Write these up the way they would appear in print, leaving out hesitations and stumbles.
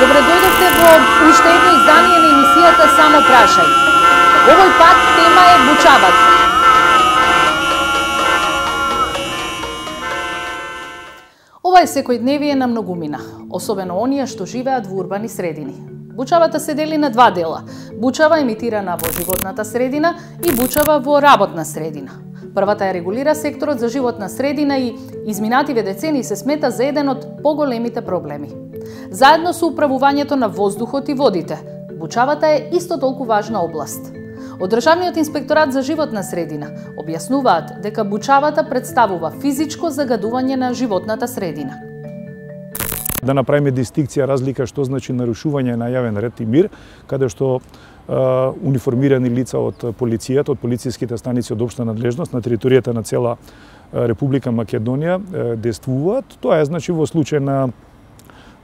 Добредојдовте во уште едно издание на емисијата Само прашај. Овој пат тема е бучавата. Ова е секојдневие на многумина, особено оние што живеат во урбани средини. Бучавата се дели на два дела. Бучава емитирана во животната средина и бучава во работна средина. Првата ја регулира секторот за животна средина и изминативе децени се смета за еден од поголемите проблеми. Заедно со управувањето на воздухот и водите, бучавата е исто толку важна област. Од Државниот инспекторат за животна средина објаснуваат дека бучавата представува физичко загадување на животната средина. Да направиме дистинкција, разлика што значи нарушување на јавен ред и мир, каде што униформирани лица од полицијата, од полициските станици од општа надлежност на територијата на цела Република Македонија действуваат. Тоа е значи во случај на,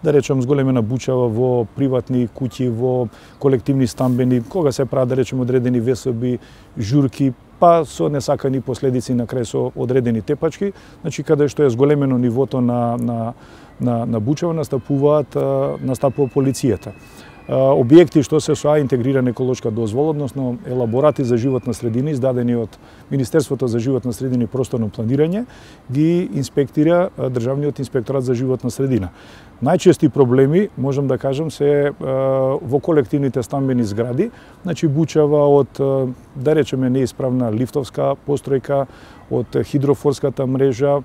да речем, зголемена бучава во приватни куќи, во колективни стамбени, кога се прават, да речем, одредени весоби, журки, па со несакани последици на крај со одредени тепачки, значи каде што е зголемено нивото на бучава настапува полицијата. Објекти што се со интегрирана еколошка дозвола, односно елаборати за животна средина, издадени од Министерството за животна средина и просторно планирање, ги инспектира Државниот инспекторат за животна средина. Најчести проблеми, можам да кажам, се во колективните стамбени згради, значи бучава од, да речеме, неисправна лифтовска постројка, од хидрофорската мрежа,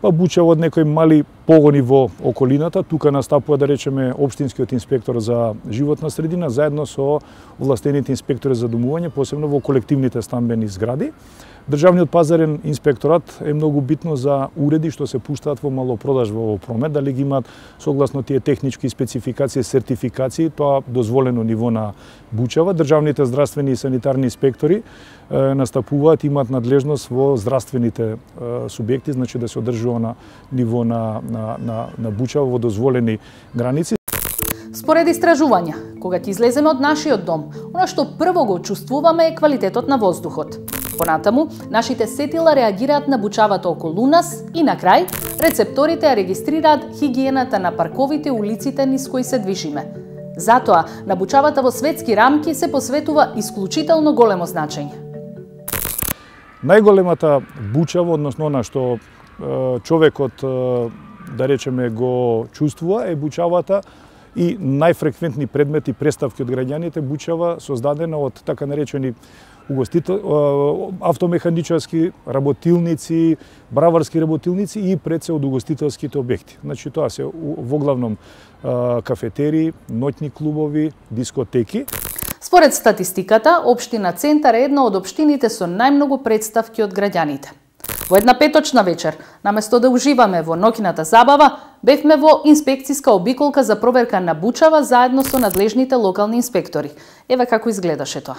па бучава од некои мали погони во околината. Тука настапува, да речеме, општинскиот инспектор за животна средина заедно со овластените инспектори за домување, посебно во колективните стамбени згради. Државниот пазарен инспекторат е многу битно за уреди што се пуштаат во малопродажба во промет, дали ги имаат согласно тие технички спецификации, сертификации, тоа дозволено ниво на бучава. Државните здравствени и санитарни инспектори настапуваат, имаат надлежност во здравствените субјекти, значи да се одржува на ниво на бучава во дозволени граници. Според истражувања, кога ќе излеземе од нашиот дом, она што прво го чувствуваме е квалитетот на воздухот. Понатаму, нашите сетила реагираат на бучавата околу нас и на крај, рецепторите ја регистрираат хигиената на парковите и улиците низ кои се движиме. Затоа, на бучавата во светски рамки се посветува исклучително големо значење. Најголемата бучава, односно она што човекот, да речеме, го чувствува, е бучавата и најфреквентни предмети преставки од граѓаните, бучава создадена од така наречени автомеханичарски работилници, браварски работилници и пред се од угостителските објекти. Значи тоа се воглавном кафетерии, ноќни клубови, дискотеки. Според статистиката, општина Центар е една од општините со најмногу представки од граѓаните. Во една петочна вечер, наместо да уживаме во ноќната забава, бевме во инспекциска обиколка за проверка на бучава заедно со надлежните локални инспектори. Еве како изгледаше тоа.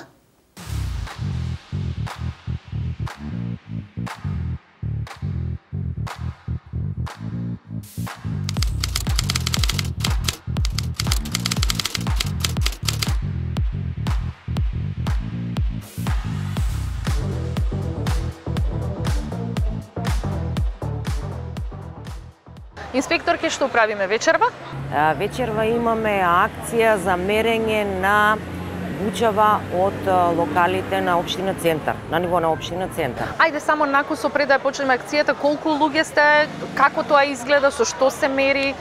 Инспекторке, што правиме вечерва? Вечерва имаме акција за мерење на бучава од локалите на општина Центар, на ниво на општина Центар. Ајде само накусо пред да почнеме акцијата, колку луѓе сте, како тоа изгледа, со што се мери?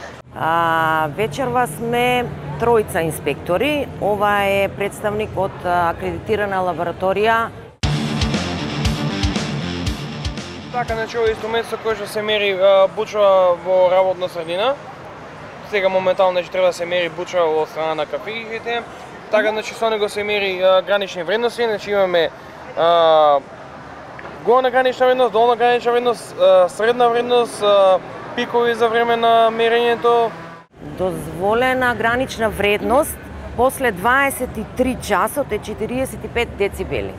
Вечерва сме тројца инспектори. Ова е представник од акредитирана лабораторија. Така, значи, ова инструмент со кој што се мери бучава во работна средина. Сега моментално треба да се мери бучава во страна на кафеите. Така, значи, со него се мери гранични вредности, значи имаме горна гранична вредност, долна гранична вредност, средна вредност, пикови за време на мерењето. Дозволена гранична вредност после 23 часот е 45 децибели.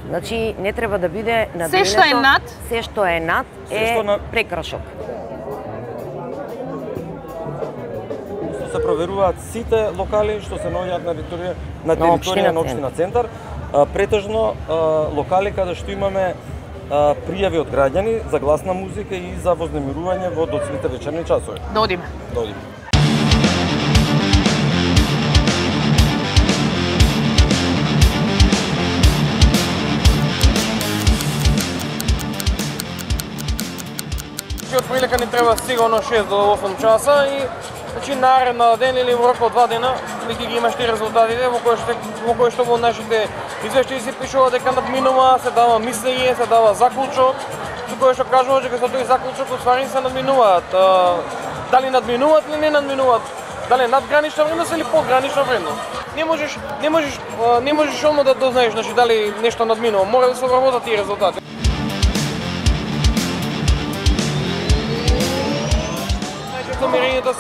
Значи, не треба да биде надвинето. Се што е над? Се што е над е прекрашок. Се проверуваат сите локали што се наоѓаат на територија на општина Центар. Претежно локали каде што имаме пријави од граѓани за гласна музика и за вознемирување во доцните вечерни часови. Да одиме. Да одиме. Значи од прилика ни треба сигурно 6 до 8 часа и значи наредна ден или во рок од 2 дена веќе ги имаш ти резултатите во кои што во нашите извештаи се пишува дека надминува, се дава мислење, се дава заклучок, со кој што кажува дека со тој заклучок уствари се надминуваат. Дали надминуваат или не надминуваат? Дали надгранична вредност или подгранична вредност? Не можеш одма да дознаеш, значи дали нешто надминува. Мора да се обработат тие резултати. Најчесто мерењето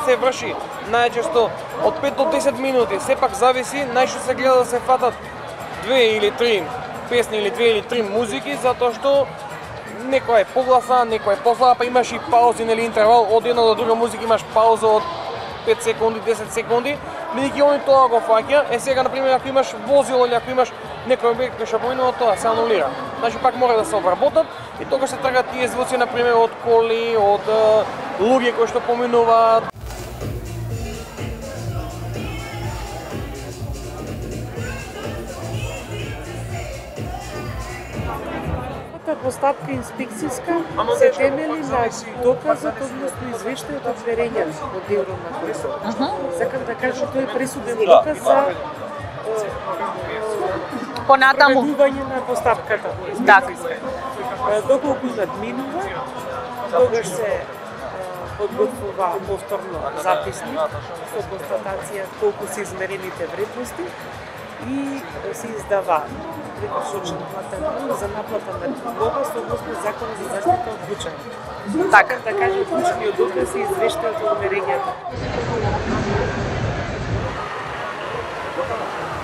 се врши најчесто од 5 до 10 минути. Сепак зависи, најшто се гледа да се фатат 2 или 3 песни или 2 или 3 музики, затоа што некоја е погласа, некоја е послаба, па имаш и паузи, нели интервал од една до друга музика, имаш пауза од 5 секунди, 10 секунди, бидејќи они тоа го фаќа. Сега, например, ако имаш возило или ако имаш некој објект кој што поминува, тоа се анулира. Значи пак мора да се обработат и тогаш се трагат тие звуци, например, од коли, од луѓе кои што поминуваат. Постапка инспекцијска се темели на доказот, односно извештајот од верењето од делот на кој. Сакам да кажам, тој е пресуден доказ за понатаму проведување на постапката инспекцијска. Доколку надминува, тогаш се подготвува повторно записник со констатација колку се измерените вредности и се издава прекусочен платен налог за наплата на глоба согласно Законот за заштита од бучање. Така да кажем, клучниот доказ е извештајот од мерењето.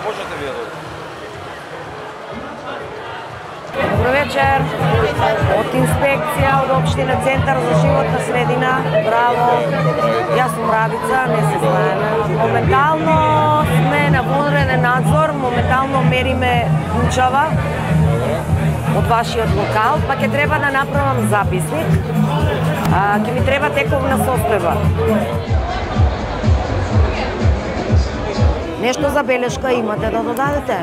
Можете вие да Добро вечер. Од инспекција од општина Центар за животна средина. Браво. Јас сум Рабица, не се знаеме. Моментално сме на вонреден надзор, моментално мериме бучава од вашиот локал, па ќе треба да направам записник. Ќе ми треба тековна состојба. Нешто за белешка имате да додадете?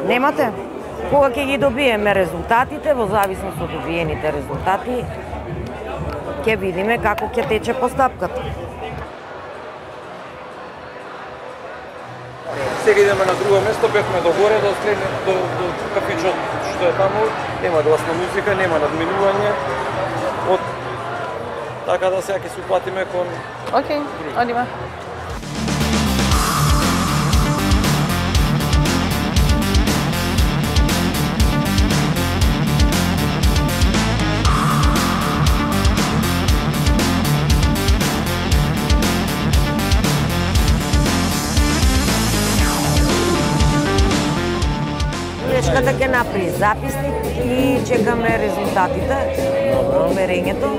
Немате? Кога ќе ги добиеме резултатите, во зависност од добиените резултати, ќе видиме како ќе тече постапката. Сега идеме на друго место, бевме до горе, до кафичот што е таму, нема гласна музика, нема надминување. Така да сега ќе се упатиме кон... Океј, одиме. Белешката ќе направи записник и чекаме резултатите од мерењето.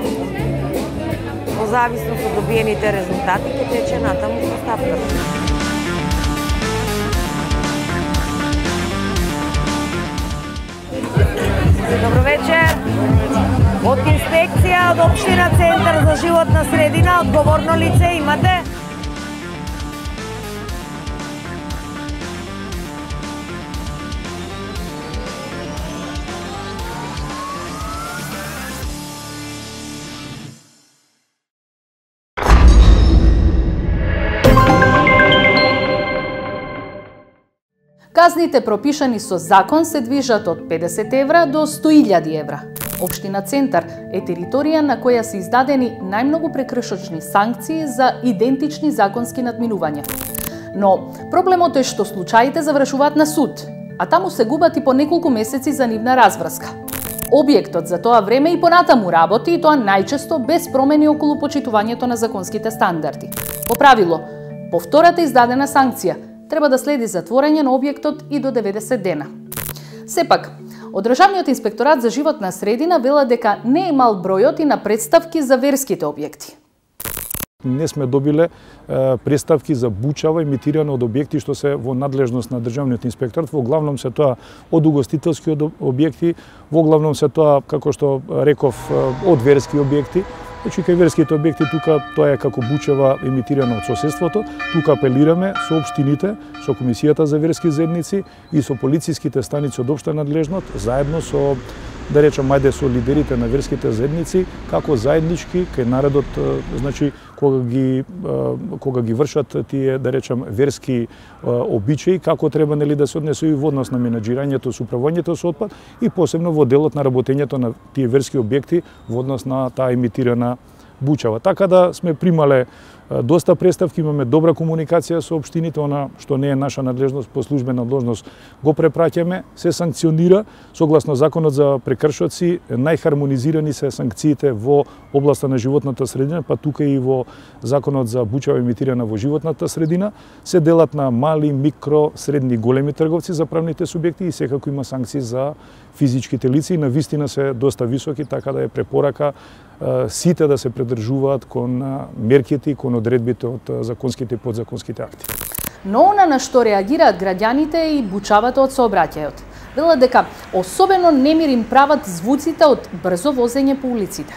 Во зависност од добиените резултати ќе тече натаму постапката. Добро вечер. Од инспекција од општина Центар за животна средина, одговорно лице имате? Казните пропишани со закон се движат од 50 евра до 100.000 евра. Општина Центар е територија на која се издадени најмногу прекршочни санкции за идентични законски надминувања. Но проблемот е што случаите завршуваат на суд, а таму се губат и по неколку месеци за нивна разврска. Објектот за тоа време и понатаму работи, и тоа најчесто без промени околу почитувањето на законските стандарди. По правило, по втората издадена санкција треба да следи затворање на објектот и до 90 дена. Сепак, од Државниот инспекторат за животна средина вела дека не е мал бројот и на представки за верските објекти. Не сме добиле представки за бучава емитирано од објекти што се во надлежност на Државниот инспекторат. Во главном се тоа од угостителски објекти, во главном се тоа, како што реков, од верски објекти. Значи, кај верските објекти тука тоа е како бучева емитирано од соседството. Тука апелираме со општините, со Комисијата за верски заедници и со полициските станици од општа надлежност, заедно со да речам, ајде со лидерите на верските заедници, како заеднички кај народот, значи, кога ги вршат тие, да речам, верски обичаи, како треба нели да се однесува во однос на менаџирањето, со управувањето со отпад и посебно во делот на работењето на тие верски објекти во однос на таа емитирана бучава. Така да сме примале доста представки, имаме добра комуникација со општините, она што не е наша надлежност, по службена должност го препраќаме, се санкционира согласно законот за прекршоци, најхармонизирани се санкциите во областа на животната средина, па тука и во законот за бучава емитирана во животната средина, се делат на мали, микро, средни, големи трговци за правните субјекти и секако има санкции за физичките лица и на вистина се доста високи, така да е препорака сите да се придржуваат кон мерките и кон одредбите од законските и подзаконските акти. Но она на што реагираат граѓаните и бучавата од сообраќајот. Велат дека особено немир им прават звуците од брзо возење по улиците.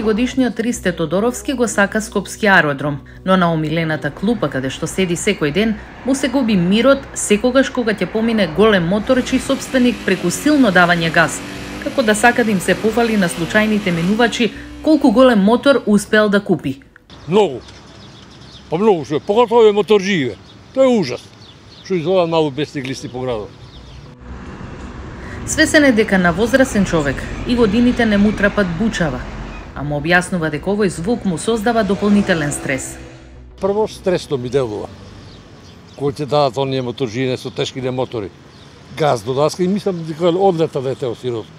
Годишниот Ристе Тодоровски го сака Скопски аеродром, но на омилената клупа каде што седи секој ден, му се губи мирот секогаш кога ќе помине голем мотор чиј собственик преку силно давање газ, како да сака да им се пофали на случајните минувачи колку голем мотор успеал да купи. Многу. Па многу што е, поготово е моторџије. Тоа е ужас. Што изгледа малку без циклисти по градот. Свесен е дека на возрасен човек и годините не му трапат бучава, а му објаснува дека овој звук му создава дополнителен стрес. Прво, стресто ми делува. Кој ќе дадат оние моторџије со тешките мотори. Газ до даска и мислам дека одлета дете од сирот.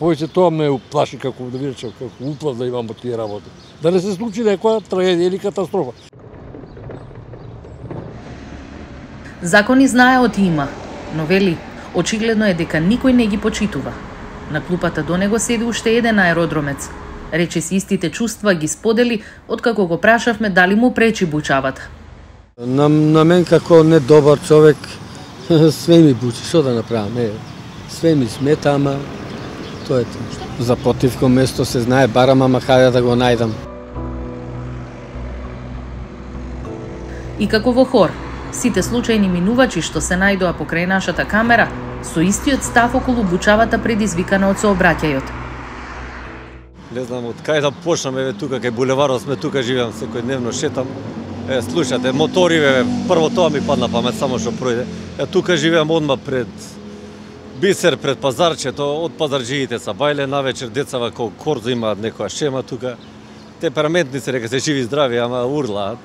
Повеќе тоа ме уплаши како да ви речам, како уплав да имам од тие работи. Да не се случи некоја трагедија или катастрофа. Закони знаеот има, но вели, очигледно е дека никој не ги почитува. На клупата до него седи уште еден аеродромец. Рече си истите чувства ги сподели откако го прашавме дали му пречи бучавата. На мен како не добар човек све ми бучи, што да направам? Све ми смета, ама тоа е тоа. За противко место се знае, барам, ама хајде да го најдам. И како во хор, сите случајни минувачи што се најдоа покрај нашата камера, со истиот став околу бучавата предизвикана од сообраќајот. Не знам од кај да почнам, еве тука кај булеварот сме, тука живеам секојдневно, шетам. Слушате, мотори, прво тоа ми падна памет, само што пројде. Тука живеам одма пред Бисер, пред пазарчето, од пазарџиите са бајле, навечер децава кој корзо имаат некоја шема тука. Темпераментни се, река се живи здрави, ама урлаат.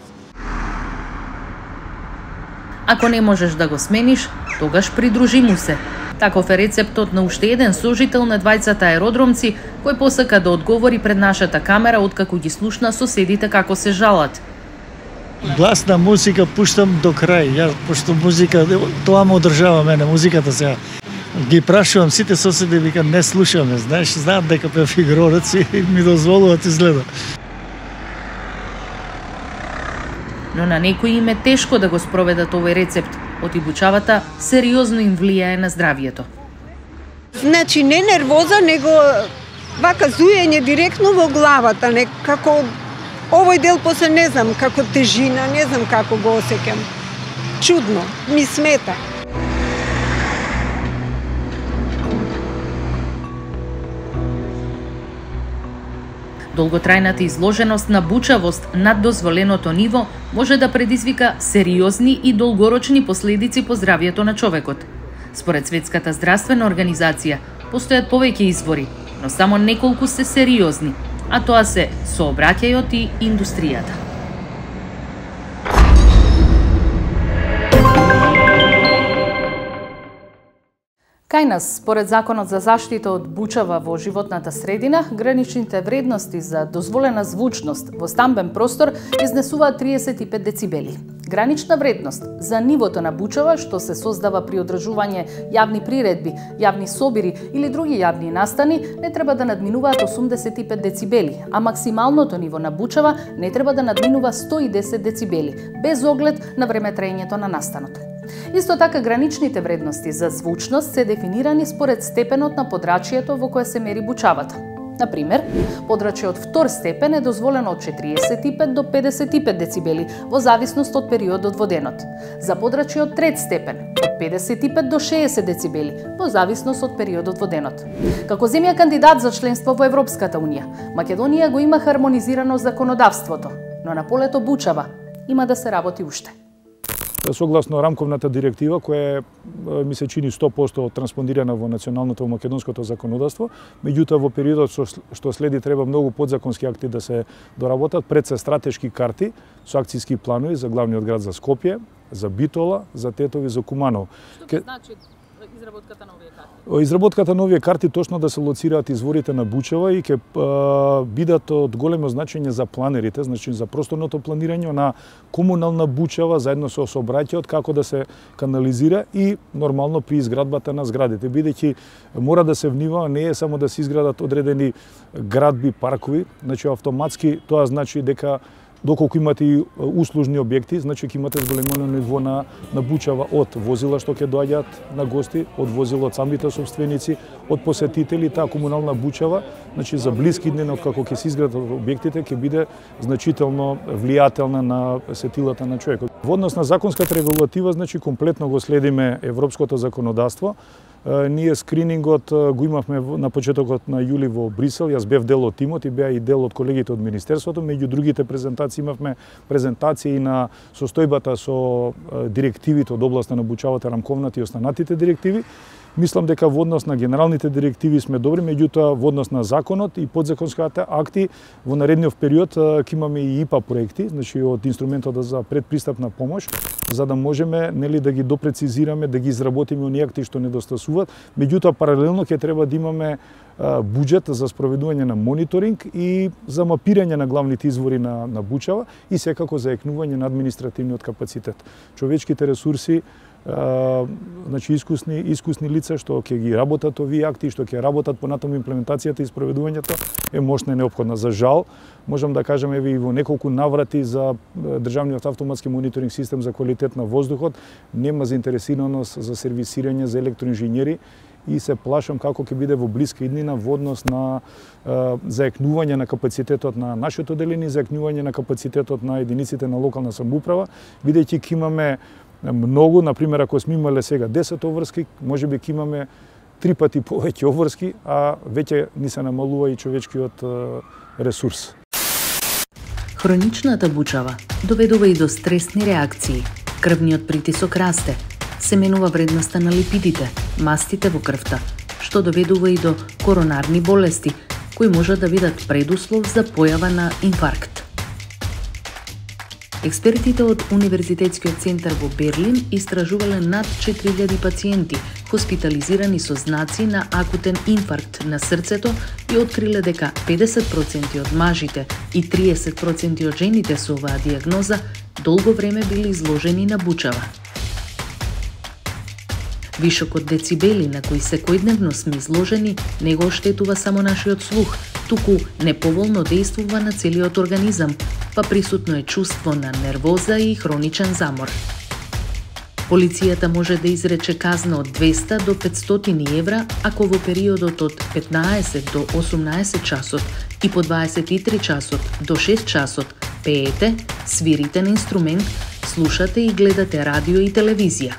Ако не можеш да го смениш, тогаш придружи му се. Таков е рецептот на уште еден сожител на двајцата аеродромци, кој посака да одговори пред нашата камера откако ги слушна соседите како се жалат. Гласна музика пуштам до крај. Ја пошто музика тоа ме одржава мене, музиката сега. Ги прашувам сите соседи, вика не слушаме, знаат дека пеам фигурорец и ми дозволуваат изгледа. Но на некои им е тешко да го спроведат овој рецепт. Отибучавата сериозно им влијае на здравието. Значи не нервоза, него вака зујење директно во главата, како овој дел после не знам, како тежина, не знам како го осеќам. Чудно, ми смета. Долготрајната изложеност на бучавост над дозволеното ниво може да предизвика сериозни и долгорочни последици по здравието на човекот. Според Светската здравствена организација, постојат повеќе извори, но само неколку се сериозни, а тоа се сообраќајот и индустријата. Кај нас, според Законот за заштита од бучава во животната средина, граничните вредности за дозволена звучност во стамбен простор изнесуваат 35 децибели. Гранична вредност за нивото на бучава што се создава при одржување јавни приредби, јавни собири или други јавни настани не треба да надминуваат 85 децибели, а максималното ниво на бучава не треба да надминува 110 децибели, без оглед на времетраењето на настанот. Исто така, граничните вредности за звучност се дефинирани според степенот на подрачјето во кое се мери бучавата. Например, подрачје од втор степен е дозволено од 45 до 55 децибели во зависност од периодот во денот. За подрачје од трет степен од 55 до 60 децибели во зависност од периодот во денот. Како земја кандидат за членство во Европската унија, Македонија го има хармонизирано законодавството, но на полето бучава има да се работи уште. Согласно рамковната директива, која ми се чини 100% транспонирана во националното македонското законодавство, меѓутоа во периодот што следи треба многу подзаконски акти да се доработат, пред се стратешки карти со акцијски планови за главниот град за Скопје, за Битола, за Тетови, за Куманово. Што значи изработката на овие карти? Изработката на овие карти точно да се лоцираат изворите на бучава и ќе бидат од големо значење за планерите, значи за просторното планирање на комунална бучава заедно со сообраќајот, како да се канализира и нормално при изградбата на зградите, бидејќи мора да се внимава, не е само да се изградат одредени градби, паркови, значи автоматски тоа значи дека доколку имате и услужни објекти, значи ќе имате зголемено ниво на бучава од возила што ќе доаѓаат на гости, од возила од самите собственици, од посетители, таа комунална бучава, значи за блиски дни откако ќе се изградат објектите, ќе биде значително влијателна на сетилата на човекот. Во однос на законската регулатива, значи комплетно го следиме европското законодавство. Ние скринингот го имавме на почетокот на јули во Брисел, јас бев дел од тимот и беа и дел од колегите од Министерството, меѓу другите презентации имавме презентации на состојбата со директивите од областа на бучавата, рамковната и останатите директиви. Мислам дека во однос на генералните директиви сме добри, меѓутоа во однос на законот и подзаконските акти во наредниот период ќе имаме и ИПА проекти, значи од инструментот за предпристапна помош, за да можеме да ги допрецизираме, да ги изработиме оние акти што недостасуваат. Меѓутоа паралелно ќе треба да имаме буџет за спроведување на мониторинг и за мапирање на главните извори на бучава и секако за екнување на административниот капацитет. Човечките ресурси, значи искусни лица што ќе ги работат овие акти, што ќе работат понатаму имплементацијата и спроведувањето е мощна и неопходна. За жал, можам да кажам еве и во неколку наврати за државниот автоматски мониторинг систем за квалитет на воздухот нема заинтересираност за сервисирање за електроинженери и се плашам како ќе биде во блиска иднина во однос на заекнување на капацитетот на нашето деление, заекнување на капацитетот на единиците на локална самоуправа, бидејќи ќе имаме многу, например, ако сме имале сега 10 обврски, можеби ќе имаме 3 пати повеќе обврски, а веќе ни се намалува и човечкиот ресурс. Хроничната бучава доведува и до стресни реакции. Крвниот притисок расте, се менува вредноста на липидите, мастите во крвта, што доведува и до коронарни болести, кои можат да бидат предуслов за појава на инфаркт. Експертите од Универзитетскиот центар во Берлин истражувале над 4000 пациенти хоспитализирани со знаци на акутен инфаркт на срцето и откриле дека 50% од мажите и 30% од жените со оваа диагноза долго време били изложени на бучава. Вишокот децибели на кои секојдневно сме изложени не го оштетува само нашиот слух, туку неповолно действува на целиот организам, па присутно е чувство на нервоза и хроничен замор. Полицијата може да изрече казна од 200 до 500 евра ако во периодот од 15 до 18 часот и по 23 часот до 6 часот пеете, свирите на инструмент, слушате и гледате радио и телевизија.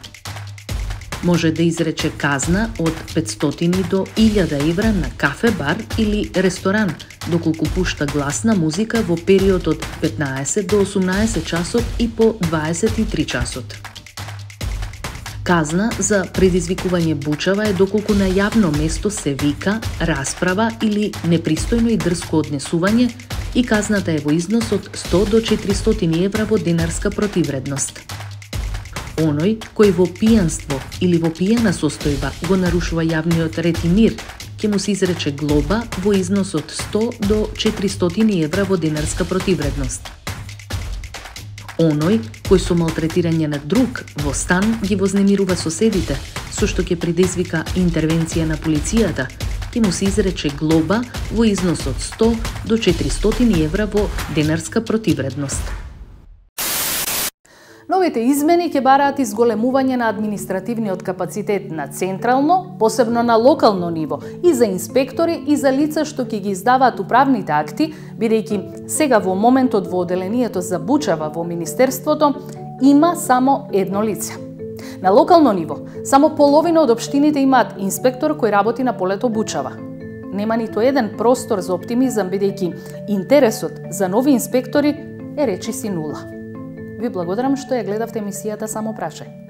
Може да изрече казна од 500 до 1000 евра на кафе, бар или ресторан, доколку пушта гласна музика во период од 15 до 18 часот и по 23 часот. Казна за предизвикување бучава е доколку на јавно место се вика, расправа или непристојно и дрско однесување и казната е во износ од 100 до 400 евра во денарска противредност. Оној кој во пијанство или во пијана состојба го нарушува јавниот ред и мир, ќе му се изрече глоба во износ од 100 до 400 евра во денарска противредност. Оној кој со малтретирање на друг во стан ги вознемирува соседите, со што ќе предизвика интервенција на полицијата, ќе му се изрече глоба во износ од 100 до 400 евра во денарска противредност. Овие измени ќе бараат изголемување на административниот капацитет на централно, посебно на локално ниво, и за инспектори и за лица што ќе ги издаваат управните акти, бидејќи сега во моментот во оделението за Бучава во Министерството има само едно лице. На локално ниво, само половина од општините имаат инспектор кој работи на полето Бучава. Нема ниту еден простор за оптимизам, бидејќи интересот за нови инспектори е речиси нула. Ви благодарам што ја гледавте емисијата Само прашај.